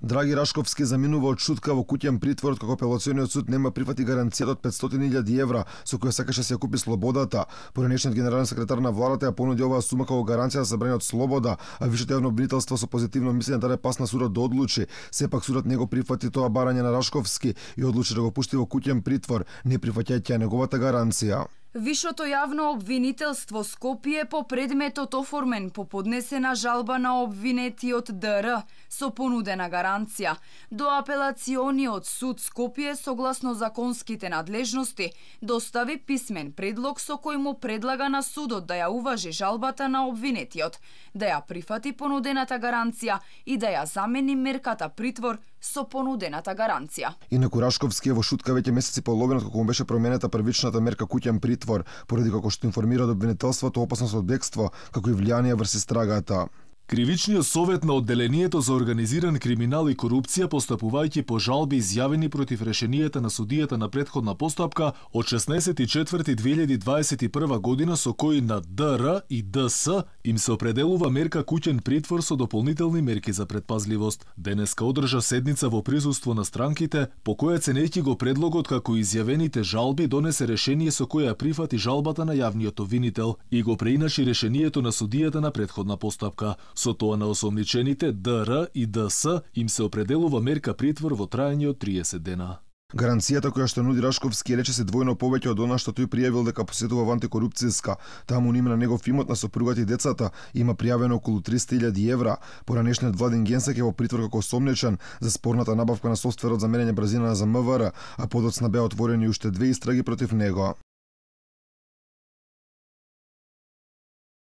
Драги Рашковски заминува од шутка во куќен притвор како апелациониот суд нема прифати гаранцијата од 500.000 евра со која сакаше да се ја купи слободата. Поранешниот генерален секретар на владата ја понуди оваа сума како гаранција за забрана од слобода, а висшето јавно обвинителство со позитивно мислење даде пас на судот да одлучи. Сепак судот не го прифати тоа барање на Рашковски и одлучи да го пушти во куќен притвор, не прифаќајќи неговата гаранција. Висшето јавно обвинителство Скопје по предметот оформен по поднесена жалба на обвинетиот ДР со понудена гаранција до апелациониот суд Скопје согласно законските надлежности достави писмен предлог со кој му предлага на судот да ја уважи жалбата на обвинетиот, да ја прифати понудената гаранција и да ја замени мерката притвор со понудената гаранција. Инаку Рашковски е во шутка веќе месеци и половина како му беше променета првичната мерка куќен притвор, поради како што информира обвинителството опасност од бегство, како и влијание врз истрагата. Кривичниот совет на одделението за организиран криминал и корупција, постапувајќи по жалби изјавени против решенијата на судијата на претходна постапка од 16.4.2021 година, со кои на ДР и ДС им се определува мерка куќен притвор со дополнителни мерки за предпазливост. Денеска одржа седница во присуство на странките, по која ценејќи го предлогот како изјавените жалби, донесе решение со која прифати жалбата на јавниот обвинител и го преиначи решението на судијата на претходна постапка. Со тоа на осомничените ДР и ДС им се определува мерка притвор во траење од 30 дена. Гаранцијата која што нуди Рашковски рече се двојно повеќе од она што тој пријавил дека посетува во антикорупцијска. Таму на име на негов имот, на сопругата и децата има пријавено околу 300.000 евра. Поранешниот Владин Генсек е во притвор како осомничен за спорната набавка на софтверот за мерење брзина за МВР, а подоцна беа отворени уште 2 истраги против него.